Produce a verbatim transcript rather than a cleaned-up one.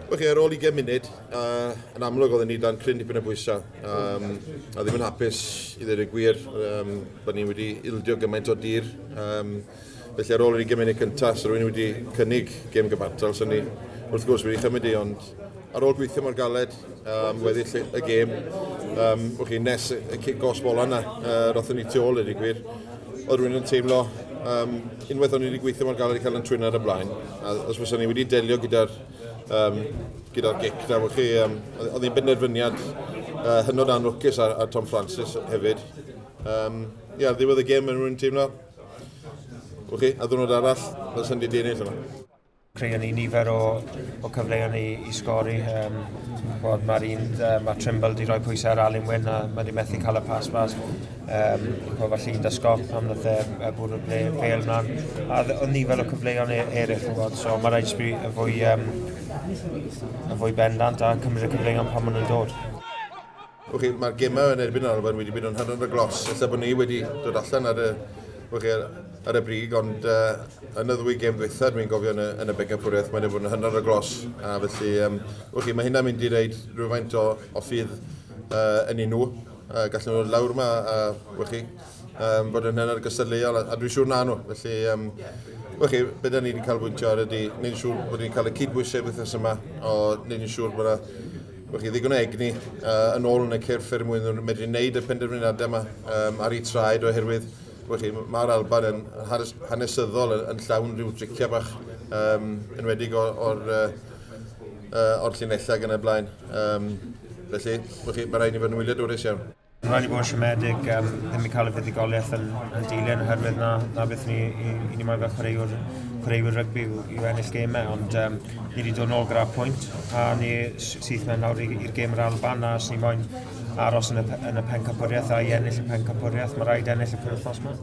Wel, ar ôl ugain munud, uh, yn amlwg oedden ni dan cryn dipyn o bwysau. Um, a ddim yn hapus i ddweud y gwir um, bod ni wedi ildio gymaint o dir. Um, felly ar ôl yr ugain munud cyntaf, so rhywun wedi cynnig gêm gyfartal, so ni wrth gwrs wedi chymryd i, ond ar ôl gweithio mor galed um, weddill y gêm, um, chi, nes y cic gosb ola yna, uh, rothon ni tu ôl i gwir, oedd rhywun yn teimlo, um, unwaith o'n i wedi gweithio mor galed i cael yn trwyn ar y blaen, a os fysa ni wedi delio gyda'r um, gyda'r gic na, chi, um, oedd hi'n benderfyniad uh, hynod anlwcus ar, ar Tom Francis hefyd. Um, ia, ar ddiwedd y gêm, mae rhywun teimlo, chi, a ddwrnod arall, fysa'n di ennill yma. Creu ni nifer o, o cyfleoedd i, i sgori. Um, Mae'r un, uh, mae Trimble wedi rhoi pwysau ar Alun Wyn a mae wedi methu cael y pas mas. Um, falle un da Scott pam nath e bwrw'r bêl mlaen. A oedd nifer o cyfleoedd eraill, gwybod, so mae rhaid i y fwy, um, y fwy bendant a cymryd y cyfleoedd pan maen nhw'n dod. Okay, mae'r gemau yn erbyn Alban wedi bod yn hynod o glos. Ella bod ni wedi dod allan ar y, okay, ar y brig, ond uh, yn y ddwy gêm ddwytha, dwi'n gofio yn y, yn y bencampwriaeth, mae'n bod yn hynod o glos. A felly, um, okay, mae hynna'n mynd i reid rhywfaint o, o ffydd uh, yn nhw. Uh, gallen nhw lawr yma a uh, um, bod yn hynod gystadleuol, a, a dwi'n siŵr na nhw. Felly, um, okay, be da ni wedi canolbwyntio ar ydy, wneud yn siŵr bod ni'n cael y cydbwysau wythnos yma, o wneud yn siŵr bod yna chi, ddigon o egni uh, yn ôl yn y cyrff er mwyn nhw'n medru wneud y penderfyniadau yma um, ar eu traed, oherwydd chi, mae'r Alban yn hanesyddol yn, yn llawn rhyw driciau bach, um, enwedig o'r, or, uh, or llinellau gan y blaen. Um, felly, chi, mae rhaid ni fod yn wyliadwrus iawn. Mae'n rhaid i bod yn siomedig um, ddim i cael y fuddugoliaeth yn, yn dilyn, oherwydd na, na beth ni, i, i ni moyn fel chwaraewr, chwaraewyr rygbi yw, yw ennill gemau, ond um, ni wedi dod nôl gyda pwynt a ni syth mewn lawr i'r gêm yr Alban, a os ni moyn aros yn y, yn y pencampwriaeth a i ennill y pencampwriaeth, mae rhaid ennill y penwythnos yma.